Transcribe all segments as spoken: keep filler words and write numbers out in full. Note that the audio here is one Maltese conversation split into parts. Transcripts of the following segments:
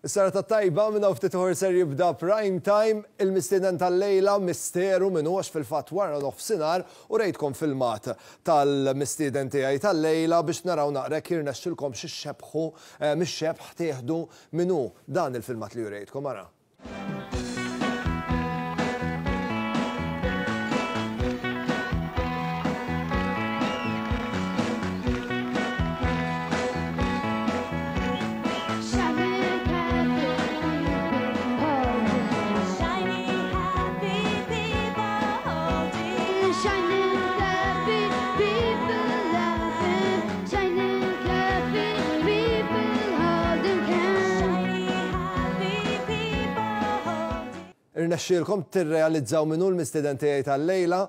Is-serata t-tajba, minn hawn ftit ieħor ser jibda Prime Time. Il-mistieden tal-lejla misteru min hu, għax fil-fatt wara nofsinhar u rejtkom filmat tal-mistieden tiegħi tal-lejla biex naraw naqra jekk jirnexxilkom xi xebħu mix-xebħ tieħdu min hu dan il-filmat li urejtkom ara. Irnexxielkom tirrealizzaw min hu l-mistieden tiegħi tal-lejla,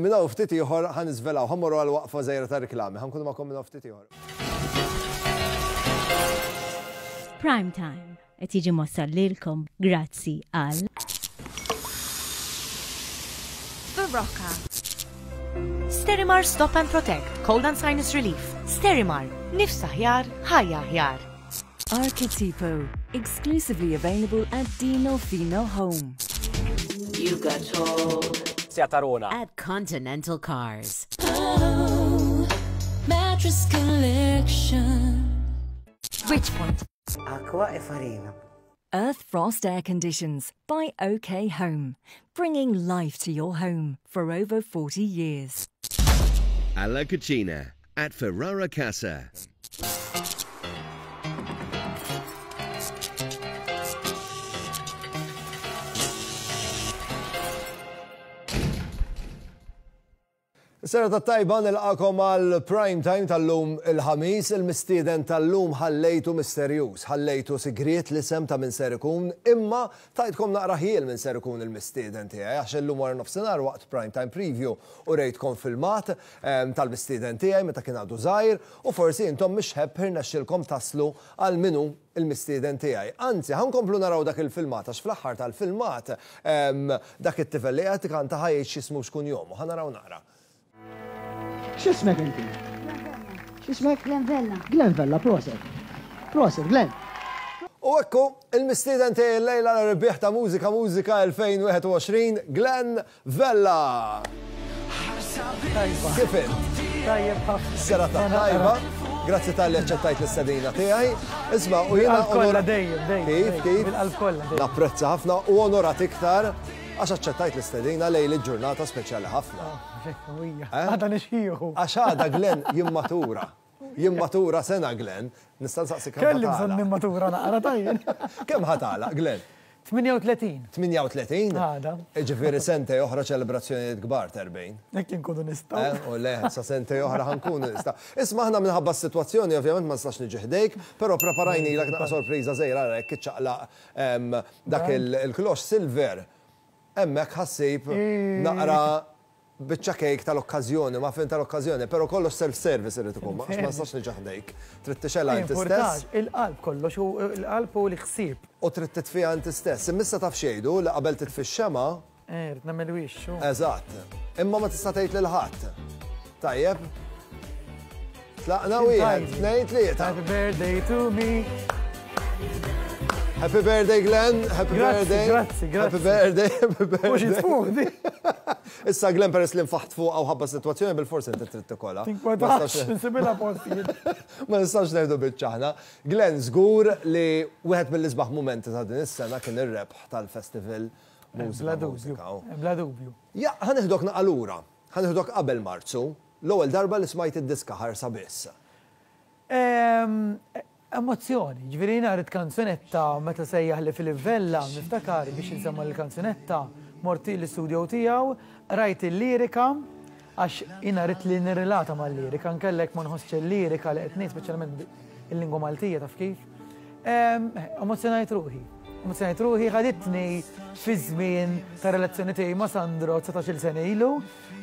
minn hawn ftit ieħor ħa niżvelaw, ħa mmorru għal waqfa żgħira ta' riklami, ħa nkunu magħkom minn hawn ftit ieħor. Prime Time qed jiġi mwassal lilkom grazzi għal Berocca. Sterimar Stop and Protect, Cold and Sinus Relief. Sterimar, nifs aħjar, ħajja aħjar. Archetipo, exclusively available at Dino Fino Home. You got told. Tarona. At Continental Cars. Oh, mattress collection. Bridgepoint. Acqua e farina. Earth Frost Air Conditions by O K Home, bringing life to your home for over forty years. Alla Cucina at Ferrara Casa. Serata tajba, nilqagħkom għal Prime Time tal-lum il-Ħamis. Il-mistieden tal-lum ħallejtu misterjuż, ħallejtu sigriet l-isem ta' min ser ikun, imma tajtkom naqra ħjiel min ser ikun il-mistieden tiegħi, għax illum wara nofsinhar waqt Prime Time Preview u rejtkom filmat em, tal-mistieden tiegħi meta kien għadu żgħir u forsi intom mix-xebh irnexxielkom taslu għal min hu il-mistieden tiegħi. Anzi, ħa nkomplu naraw dak il-filmat, għax fl-aħħar tal-filmat em, dak it-tifel li qed kanta ħa jgħid x'ismu, x'kunjomu. Ħa naraw naqra. X'ismek inti? X'ismek? Glenn Vella. Glenn Vella, proset. Proset, Glenn. U ekku, il-mistieden tiegħi l-lejla, l-rebbieħ ta' Mużika Mużika elfejn u wieħed u għoxrin, Glenn Vella. Kif int? Tajjeb ħafna. Serata tajba. Grazzi talli aċċettajt l-istedina tiegħi. Isma', u jiena Bil-qalb kollha onora- dejjem, dejjem. Kif, dejjem. kif? Bil-qalb kollha dejjem. Napprezza ħafna u onorat iktar għax aċċettajt l-istedina lejl il-ġurnata speċjali ħafna. Ija. Eh? Għada nixħieħu. Għax għada Glenn jimmatura. Jimmatura sena, Glenn. Nista' nsaqsi kemm Kelli bżonn ħa tagħlaq? nimmatura naqra tajjeb. Kemm ħa tagħlaq, Glenn? tmienja u tletin. tmienja u tletin? Għada. Ġifieri sentejn oħra ċelebrazzjonijiet kbar t'erbgħin. Jekk inkunu nistgħu. Eh, u le, sa sentejn oħra ħa nkunu nistgħu. Isma', aħna minħabba s-sitwazzjoni ovvjament ma nistax niġi ħdejk, però preparajnilek naqra sorpriża żgħira. Ara, jekk iċċaqlaq em, dak il- il-klox silver. Hemmhekk ħa ssib naqra biċċa kejk tal-okkażjoni, ma fin tal-okkażjoni, però kollox self-service irid ikun, ma għax ma nistax niġi ħdejk. Trid tixgħelha inti stess. Importax, il-qalb kollox, u il-qalb u l-ħsieb. U trid titfiha inti stess. Imma issa taf x'jgħidu, li qabel titfi x-xema, Eh, rrid nagħmel wix. u- Eżatt. Imma ma tista' tgħid lil ħadd. Tajjeb. Tlaqna, wieħed, tnejn, tlieta. Happy birthday to me. Happy birthday, Glenn, happy Grazzi, birthday. Grazzi, grazzi. Happy birthday, happy birthday. Mhux jitfuq di. Issa Glenn, peress li nfaħt fuq għaw ħabba situazzjoni, bil-forsi inti trid tikolha. Tinkwetax, nsibilha postijiet. Ma nistax ngħidu biċċaħna. Glenn, żgur li wieħed mill-isbaħ mumenti ta' din is-sena kien ir-rebħ tal-festival Mużika Bla dubju. Mużika. Bla dubju. Ja, ħa neħdok naqra lura. Ħa neħdok qabel Marzu, l-ewwel darba li smajt id-diska Ħarsa Biss. Ehm, Emozzjoni, ġifieri jiena rrid kanzunetta meta sejjaħ li Philip Vella, niftakar biex insemma l-kanzunetta, mort l-istudio tiegħu, rajt il-lirika, għax jiena rrid li nirrelata mal-lirika, nkellek ma nħossx il-lirika li qed ngħid, speċjalment il-lingwa Maltija, taf kif. Ehm, Emozzjonajt ruħi. Emozzjonajt ruħi, ħaditni fi żmien ta' relazzjoni tiegħi ma' Sandro dsatax-il sena ilu,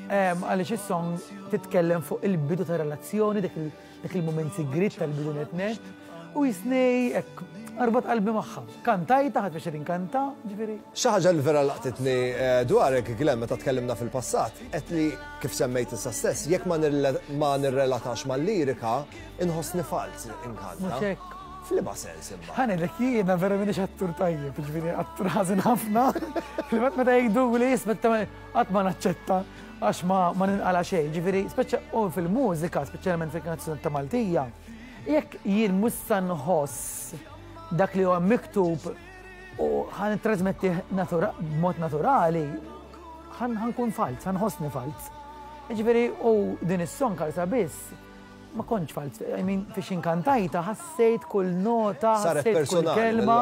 ehm, għaliex is-song titkellem fuq il-bidu ta' relazzjoni, dak il- dak il-moment sigrit tal-bidu net net, u jisnej hekk arbat qalbi magħha. Kantajta, ħadd biex inkanta, ġifieri. Xi ħaġa li vera laqtitni eh, dwarek, Glenn, meta tkellimna fil-passat, qed li kif semmejt issa stess, jekk ma nirrela- ma nirrelatax mal-lirika, inħossni falz inkanta. Mhux hekk. F'liema sens imma? Ħa ngħidlek jiena vera m'iniex attur tajjeb, ġifieri attur ħażin ħafna. Fil-fatt meta jgħidu li jisma' qatt ma naċċetta għax ma ma ninqala xejn. Ġifieri speċa u fil-mużika, speċjalment fil-kanzunetta Maltija, jekk jien mhux sa nħoss dak li huwa miktub u ħa nittrażmetti b'mod naturali, ħa nkun falz, ħa nħossni falz. Ġifieri u din is-song Karsa Biss ma kontx falz, I mean, fiex inkantajta, ħassejt kull nota, saret ħassejt kull kelma.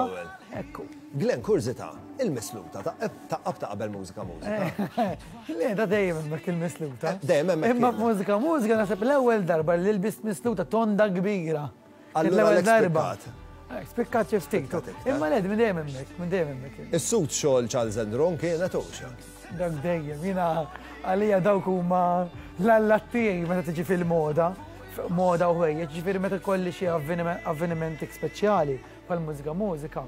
Ekku. Glenn, kurżità, il-misluta ta' ta' qabel Mużika Mużika. Le, da dejjem hemmhekk il-misluta. Dejjem hemmhekk. Imma Mużika Mużika naħseb l-ewwel darba li lbist misluta tonda kbira. Allura L-ewwel darba. Spikkat. Spikkat xi ftit. Imma le, minn dejjem hemmhekk, minn dejjem hemmhekk. Is-suit xogħol Charles Andron kienet uxa. Dak dejjem, jiena għalija dawk huma l-allat tiegħi meta tiġi fil-moda, moda u ħwejjeġ, ġifieri meta kolli xi avvenimenti speċjali bħal Mużika Mużika.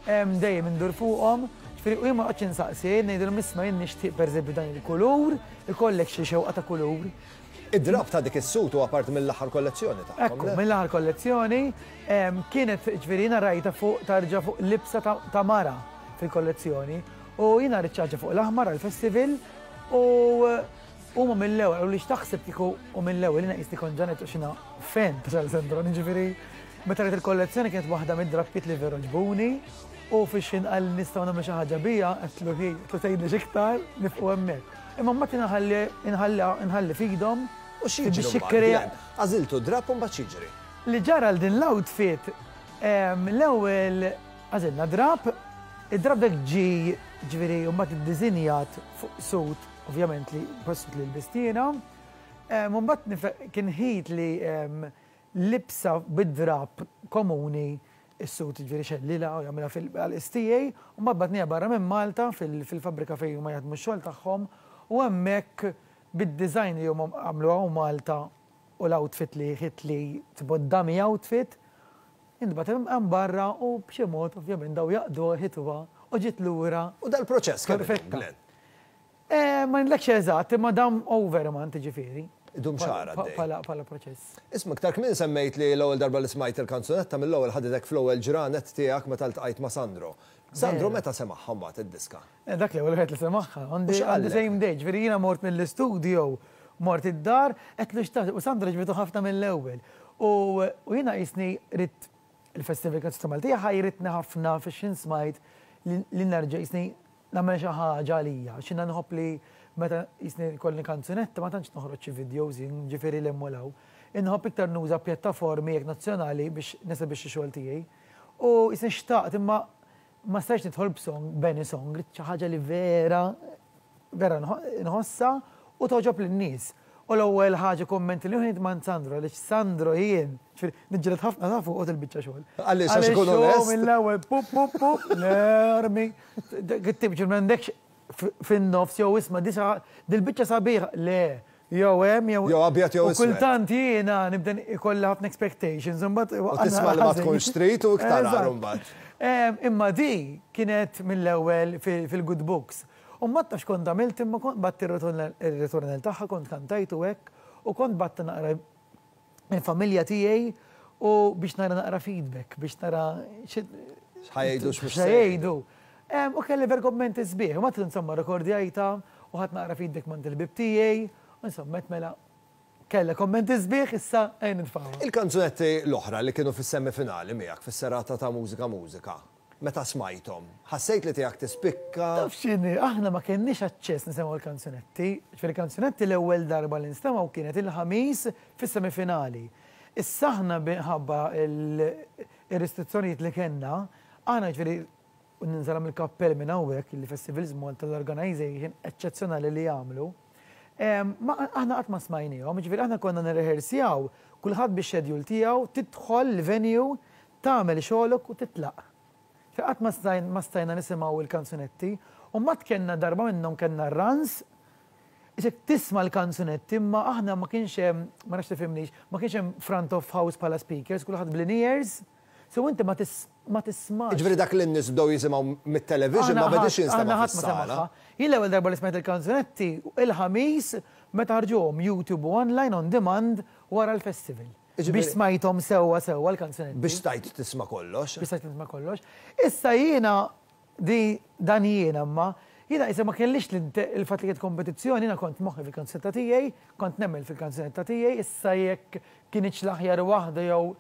Dejjem indur fuqhom, ġifieri u jien ma noqgħodx insaqsi, ngħidilhom isma' jien nixtieq pereżempju dan il-kulur, ikollek xi xewqa ta' kulur. Id-drab ta' dik is-suit huwa parti mill-aħħar kollezzjoni tagħhom. Ekku, mill-aħħar kollezzjoni kienet ġifieri jiena rajta fuq tarġa fuq libsa ta' mara fil-kollezzjoni u jiena ridt ħaġa fuq l-aħmar għall-festival u huma mill-ewwel u li x'taħseb kieku u mill-ewwel jiena qisni kont ġanet u xina fan ta' Charles Andron, ġifieri meta rajt il-kollezzjoni kienet waħda mid-drappiet li veru ġbuni u fiex inqal nistgħu nagħmlu xi ħaġa bija, qedtlu hi, qedtlu tgħidli x'iktar nifqu hemmhekk. Imma mbagħad inħalli inħalli f'idhom. U x'jiġri mbagħad? Għażiltu drap u mbagħad x'jiġri? Li ġara l din l-outfit, l-ewwel għażilna drap, id-drap dak ġi ġifieri u mbagħad iddisinjat fuq suit, ovvjament li suit li lbistina. Mbagħad kien ħit li libsa bid-drap komuni is-suit ġifieri xellila u jagħmilha fil-istijaj, u mbagħad batnija barra minn Malta fil-fabbrika fejn huma jaħdmu x-xogħol tagħhom u hemmhekk bid-design li huma għamlu hawn Malta u l-outfit li ħit li tipo dummy outfit, intbagħat hemm barra u b'xi mod ovvjament daw jaqdu ħituha u ġiet lura. U dal-proċess kemm Perfetta. Ma ngħidlekx eżatt, imma dam over month ġifieri. Idum xahar għaddej. Bħala proċess. Isma' iktar kmieni semmejt li l-ewwel darba li smajt il-kanzunetta mill-ewwel ħaditek fl-ewwel ġranet tiegħek meta ltqajt ma' Sandro. Sandro meta semagħha mbagħad id-diska? Dak l-ewwel wieħed li semagħha, on the same day, ġifieri jiena mort mill-istudio, mort id-dar, qed xtaqt, u Sandro ġbitu ħafna mill-ewwel. U jiena qisni ridt il-Festival Kanzunetta Maltija ħajritni ħafna fiex smajt li nerġa' qisni nagħmel xi ħaġa għalija, x'inha nħobb li meta qisni kolli kanzunetta ma tantx noħroġ xi videos ġifieri l-emmolaw. Inħobb iktar nuża pjattaformi jekk nazzjonali biex nesebixxi xogħol tiegħi. U qisni xtaqt imma ma stajx nidħol b'song, b'any song, xi ħaġa li vera, vera nħossa u toġob lin-nies. U l-ewwel ħaġa kommenti li ħin man Sandro, għaliex Sandro jien, niġġieled ħafna ta' fuq il-biċċa xogħol. Għaliex għax ikun onest. Mill-ewwel pup pup pup, l-armi. Kittib ġil m'għandekx fin-nofs jew isma' dil-biċċa sabiħa, le, jew hemm jew. Jew abjad jew U kultant jiena nibda ikolli ħafna expectations, imbagħad. U tisma' li ma tkunx trid u iktar mbagħad. Imma di kienet mill-ewwel fil-good books. U ma tafx kont għamilt imma kont bgħatt ir-ritornell tagħha kont kantajtu hekk u kont bgħatt naqra il-familja tiegħi u biex nara naqra feedback, biex nara x'ħa jgħidu x'mhux jgħidu. U kelli ver kommenti sbieħ, u ma insomma rekordjajta u ħadt naqra feedback minn il-ħbieb tiegħi, u insomma mela kella kommenti sbieħ issa ejn nitfgħu. Il-kanzunetti l-oħra li kienu fis-semifinali miegħek fis-serata ta' Mużika Mużika, meta smajthom, ħassejt li tiegħek tispikka? Taf x'inhi, aħna ma kenniex aċċess nisimgħu l-kanzunetti. Ġifieri kanzunetti l-ewwel darba li nstemgħu kienet il-Ħamis fis-semifinali. Issa aħna minħabba il-restrizzjonijiet li kellna, aħna ġifieri ninżalhom il-kappell minn hawnhekk il-Festivals Malta l-organization eċċezzjonali li jagħmlu. Ma aħna qatt ma smajnihom, ġifieri aħna konna nirrehearsjaw kulħadd bix-schedule tiegħu, tidħol l-venue, tagħmel xogħolok u titlaq. Qatt ma stajna nisimgħu il-kanzunetti, u mat kellna darba minnhom kellna runs, Isek tisma' l-kanzunetti, imma aħna ma kienx hemm, ma nafx tifhimnix, ma kienx hemm front of house bħala speakers, kulħadd bl-in-ears, so inti ma tismax. Ġifieri dak li n-nies bdew jisimgħu mit-television ma bedix jinstema' fis-sala. Jien l-ewwel darba li smajt il-kanzunetti il-Ħamis meta ħarġuhom YouTube u online on demand wara l-festival. Biex smajthom sewwa sewwa l-kanzunetti. Biex stajt tisma' kollox. Biex stajt tisma' kollox. Issa jiena di dan jiena imma jiena issa ma kellix il-fatt li kienet kompetizzjoni, jiena kont moħħi fil-kanzunetta tiegħi, kont nemmen fil-kanzunetta tiegħi, issa jekk kienx l-aħjar waħda jew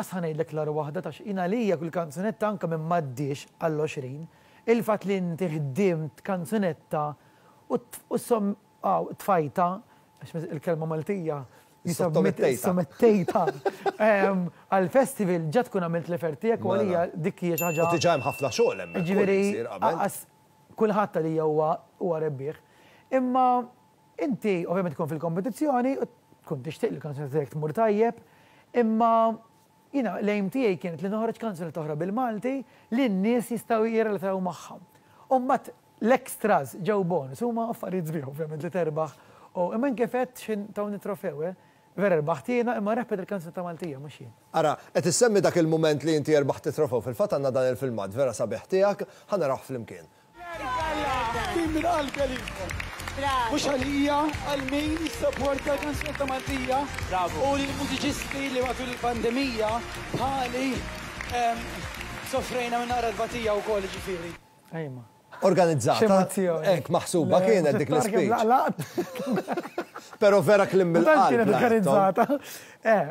qas ngħidlek l-agħar waħda tax jiena għalija kull kanzunetta anke minn m'għaddiex għall-għoxrin, il-fatt li inti ħdimt kanzunetta u som tfajta, għax il-kelma Maltija, sottomettejta għal-festival ġa tkun għamilt l-effort tiegħek u għalija dik hija xi ħaġa. U diġà hemm ħafna xogħol hemmhekk. Ġifieri kulħadd għalija huwa rebbieħ. Imma inti ovvjament tkun fil-kompetizzjoni u tkun tixtieq li l-kanzunetta tiegħek tmur tajjeb, imma jiena l-aim tiegħi kienet li noħroġ kanzunetta oħra bil-Malti li n-nies jistgħu jirrelataw magħha. U mbagħad l-extras ġew bonus huma affarijiet sbieħ ovvjament li terbaħ. U imma kif għedt x'in tawni trofew, vera rbaħt jiena imma rebħet il-kanzunetta Maltija mhux jien. Ara, qed issemmi dak il-mument li inti rbaħt it-trofew, fil-fatt għandna dan il-filmat vera sabiħ tiegħek, ħa narawh flimkien. Min minn qalbi għalikom. Mhux għalija, għal min jissapporta l-kanzunetta Maltija u l-mużiċisti li matul il-pandemija bħali soffrejna minn naqra tbatija wkoll ġifieri. Ejma. Organizzata. Hekk maħsuba kienet dik l-ispeech. Però vera kliem mill-qalb. Kienet organizzata. Eh,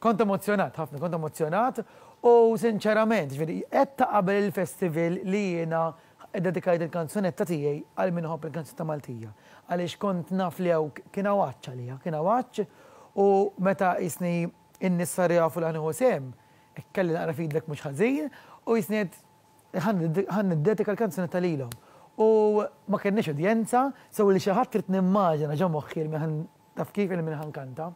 kont emozjonat ħafna, kont emozjonat u sinċerament, ġifieri qed ta' qabel il-festival li jiena dedikajt il-kanzunetta tiegħi għal min iħobb il-kanzunetta Maltija. Għaliex kont naf li hawn kien hawn għatx għalija, kien hawn għatx u meta jisni n-nies saru jafu li ħa nieħu sehem, kelli naqra feedback mhux ħażin u jisni ħa niddedika l-kanzunetta lilhom. U ma kenniex udjenza, sew li xi ħadd trid nimmaġina ġo moħħi li ħan taf kif li min ħa nkanta.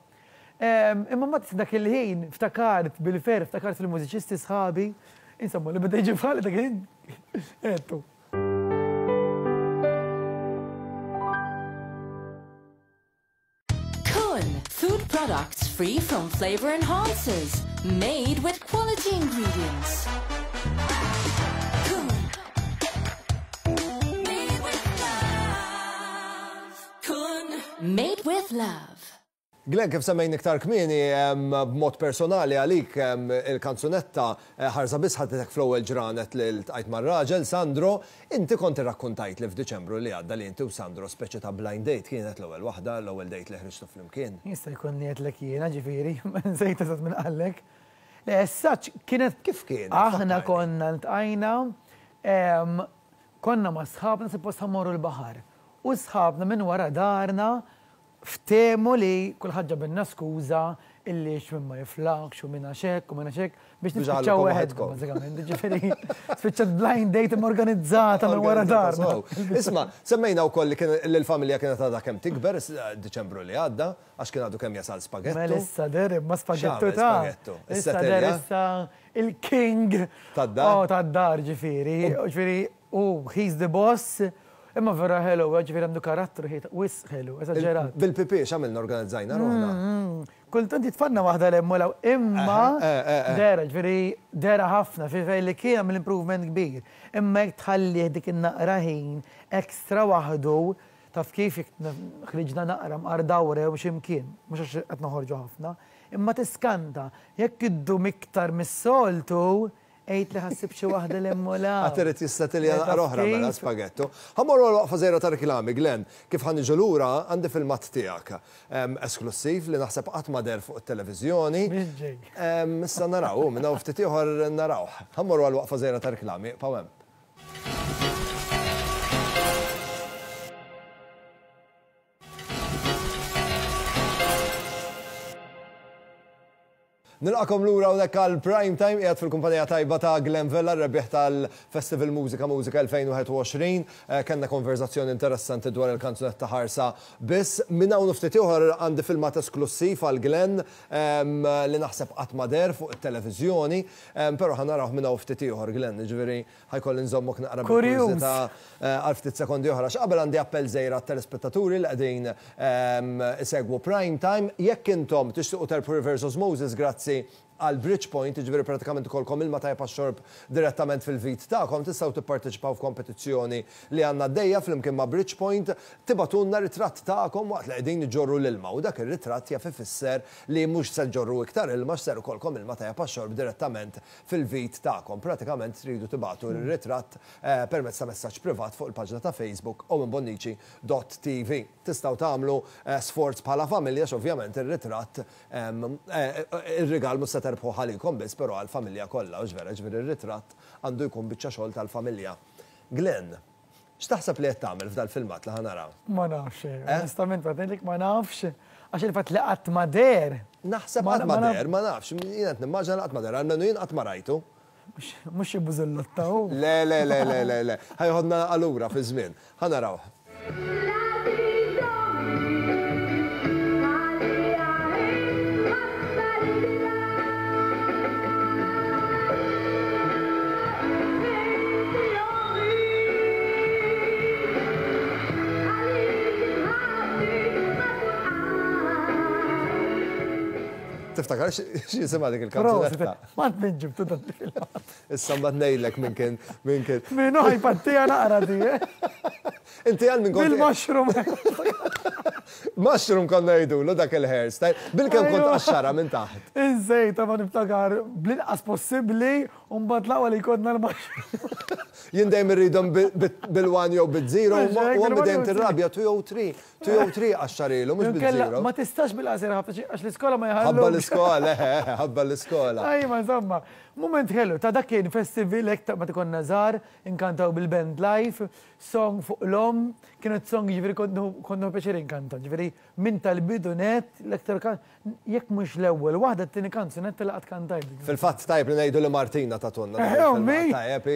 Imma mbagħad dak il-ħin ftakart bil-ferħ, ftakart fil-mużiċisti sħabi, insomma li beda jiġi bħali dak il-ħin għedtu. Food products free from flavor enhancers, made with quality ingredients. Kun. Made with love. Kun. Made with love. Glenn, kif semmejn iktar kmieni, b'mod personali għalik il-kanzunetta Ħarsa Biss ħadtek fl-ewwel ġranet li ltqajt mar-raġel, Sandro, inti kont irrakkuntajt li f'Diċembru li għadda li inti u Sandro speċi ta' blind date kienet l-ewwel waħda, l-ewwel date li ħriġtu flimkien. Jista' jkun li għedtlek jiena ġifieri, ma nsejt eżatt minn qallek. Le, as kienet kif kienet? Aħna konna ltqajna, konna ma' sħabna suppost ħa mmorru l-baħar. U sħabna minn wara darna ftehmu li kulħadd ġabilna skuża illi x'min ma jiflaħx u minn għax hekk u minn għax hekk biex nispiċċaw waħedkom, bażikament. Ġifieri spiċċat blind date organizzata minn wara darna. Isma', semmejna wkoll li l-familja kienet għadha kemm tikber Diċembru li għadda, għax kien għadu kemm jasal spaghettu. Mela issa der imma spaghettu ta' issa der issa il-king tad-dar. Oh, tad-dar ġifieri. Ġifieri, oh, he's the boss. Imma vera ħelu, ġifieri għandu karattru ħejta, wisq ħelu, eżaġerat. Bil-pipi x'għamilna organizzajna ruħna? Kultant jitfanna waħda l-hemm u law, imma dera, ġifieri dera ħafna, fejn li kien għamil improvement kbir. Imma jekk tħallih dik in-naqra ħin ekstra waħdu, taf kif jekk ħriġna naqra mqar dawra jew xi mkien, mhux għax qed noħorġu ħafna, imma tiskanta, jekk iddum iktar mis-soltu, għid li ħassib xi waħda l-hemm u law. Għad irid jistatilja naqra oħra mela spaghettu. Ħa mmorru għal waqfa żgħira ta' reklami, Glenn, kif ħa niġu lura għandi filmat tiegħek esklussiv li naħseb qatt ma deher fuq it-televiżjoni. Issa naraw, minn hawn ftit ieħor narawh. Ħa mmorru għal waqfa żgħira ta' reklami, ibqgħu hemm. Nilqakom lura hawnhekk għal Prime Time qiegħed fil-kumpanija tajba ta' Glenn Vella, rebbieħ tal-Festival Mużika Mużika elfejn u wieħed u għoxrin. Kellna konverzazzjoni interessanti dwar il-kanzunetta Ħarsa Biss. Minn hawn ftit ieħor għandi filmat esklussiv għal Glenn li naħseb qatt ma deher fuq it-televiżjoni, però ħa narawh minn hawn ftit ieħor Glenn, jiġifieri ħajkolli nżommok naqra bil-kurżità għal ftit sekondi oħra. X'qabel għandi appell żgħir għat-telespettaturi li qegħdin isegwu Prime Time. Jekk intom tixtiequ terbħu Reverse Osmosis, grazzi għal Bridgepoint, ġifieri pratikament ikollkom ilma tajjeb għax-xorb direttament fil-vit tagħkom, tistgħu tipparteċipaw f'kompetizzjoni li għandna għaddejja flimkien ma' Bridgepoint, tibagħtulna ritratt tagħkom waqt li qegħdin iġorru l-ilma u dak ir-ritratt jaf ifisser li mhux se ġorru iktar ilma x'ser ikollkom ilma tajjeb għax-xorb direttament fil-vit tagħkom. Pratikament tridu tibagħtu r-ritratt eh, permezz ta' messaġġ privat fuq il-paġna ta' Facebook owenbonnici dot T V. Tistgħu tagħmlu eh, sforz bħala familja x'ovvjament ir-ritratt eh, ir-rigal mhux se terbħu għalikom biss, però għall-familja kollha, u vera, ġifieri ir-ritratt għandu jkun biċċa xogħol tal-familja. Glenn, x'taħseb li qed tagħmel f'dal-filmat li ħa naraw? Ma nafx, onestament, għatenlik ma nafx, għax il-fatt li qatt ma deher. Naħseb qatt ma deher, ma nafx, jien qed nimmaġina qatt ma deher, almenu jien qatt ma rajtu. Mhux xi bużullotta hu. Le, le, le, le, le, le. Ħa jeħodna allura fi żmien. Ħa naraw. Tiftakar x'jisimha dik il-kanzunetta? Ma minn ġibtu dan il-filmat. Issa mbagħad ngħidlek minn kien minn kien. Min hu ħajpattija naqra di, eh? Inti għal minn kont. Bil-mushroom. Mushroom konna ngħidulu dak il-hairstyle. Bil-kemm kont qaxxara minn taħt. Iżejta ma niftakar bl-inqas possibbli u mbagħad l-aqwa li kodna l-mushroom. Jien dejjem irridhom bil-one jew bil-zero u għammi dejjem tirrabja two jew three. Two jew three qaxxarilu, mhux bil-zero. Ma tistax bil-qasir ħafna għax l-iskola ma jħallu. Ħabba l-iskola, eh, ħabba l-iskola. Ajma, insomma, moment ħelu, ta' dak kien festival hekk ta' ma konna żgħar, inkantaw bil-band live, song fuq l-om, kienet song ġifieri konnu pjaċir inkanta, ġifieri minn tal-bidu net, l-aktar kan, jekk mhux l-ewwel waħda t-tieni kanzunetta li qatt kantajt. Fil-fatt tajb li ngħidu li Martina tatulna. Eh, ommi! Tajjeb,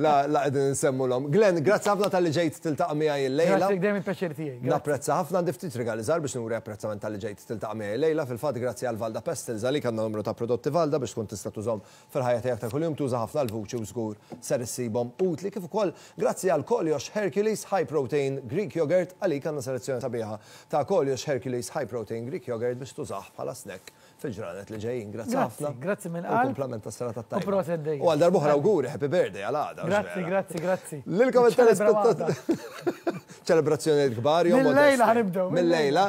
la la qegħdin nsemmu l-om. Glenn, grazzi ħafna talli ġejt tiltaqa' miegħi illejla. Grazzi, dejjem il-pjaċir tiegħi. Napprezza ħafna, għandi ftit rigali żgħar biex nuri apprezzament talli ġejt tiltaqa' miegħi illejla. Fil-fatt grazzi għal Valda Pestils, għalik għandna numru ta' prodotti Valda biex tkun tista' tużhom fil-ħajja tiegħek ta' kuljum, tuża ħafna l-vuċi u żgur ser issibhom utli, kif ukoll grazzi għal Kolios Hercules High Protein Greek Yogurt, għalik għandna selezzjoni sabiħa ta' Kolios Hercules High Protein Greek Yogurt biex tużah bħala snack fil-ġranet li ġejjin. Grazzi ħafna. Grazzi minn qalb. U kumplament tas-serata tajba. U proset dejjem. U għal darb'oħra auguri, happy birthday għal għada. Grazzi, grazzi, grazzi. Lilkom il-telespettaturi. Ċelebrazzjoni kbar. Mill-lejla ħa nibdew. Mill-lejla.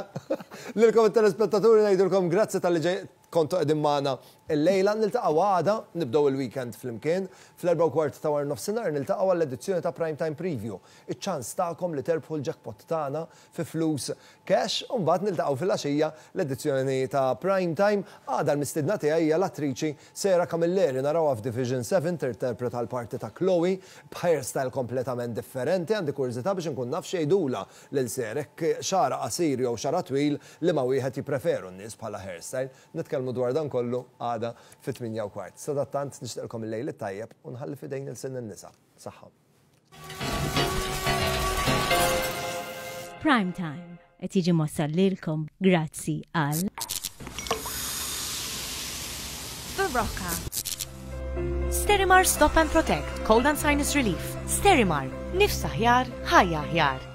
Lilkom il-telespettaturi ngħidulkom grazzi talli ġej kontu qegħdin magħna illejla. Niltaqgħu għada, nibdew il-weekend flimkien fl-erba' u kwart ta' wara nofsinhar, niltaqgħu għall-edizzjoni ta' Prime Time Preview. Iċ-ċans tagħkom li terbħu l-jackpot tagħna fi flus cash u mbagħad niltaqgħu fil-għaxija l-edizzjoni ta' Prime Time. Għada l-mistidna tiegħi hija l-attriċi Sarah Camilleri, narawha f'Division seven tinterpreta l-parti ta' Chloe b'hairstyle kompletament differenti. Għandi kurżità biex inkun naf x'jgħidulha lil Sarah, xagħar qasir jew xagħar twil li ma wieħed jippreferu n-nies bħala hairstyle. Nitkellmu dwar dan kollu għada fit-tmienja u kwart. Sadattant nixtieqilkom il-lejl it-tajjeb u nħalli f'idejn il-sin in-nisa. Saħħa. Prime Time qed jiġi mwassal lilkom grazzi għal Berocca. Sterimar Stop and Protect, Cold and Sinus Relief. Sterimar, nifs aħjar, ħajja aħjar.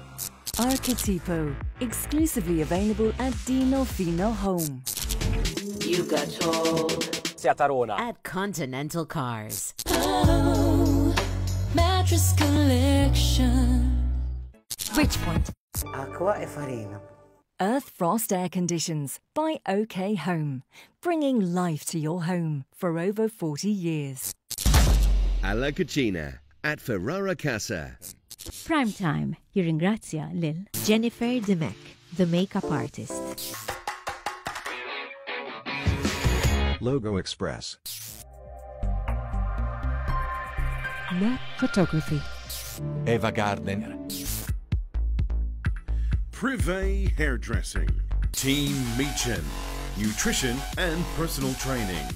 Archetipo, exclusively available at Dino Fino Home. You got told. Tarona. At Continental Cars. Oh, mattress collection. Bridgepoint. Acqua e farina. Earth Frost Air Conditions by O K Home, bringing life to your home for over forty years. Alla Cucina at Ferrara Casa. Prime Time jirringrazzja lil Jennifer Dimech, the makeup artist. Logo Express. Mac Photography. Eva Gardner. Privé Hairdressing. Team Meechan. Nutrition and personal training.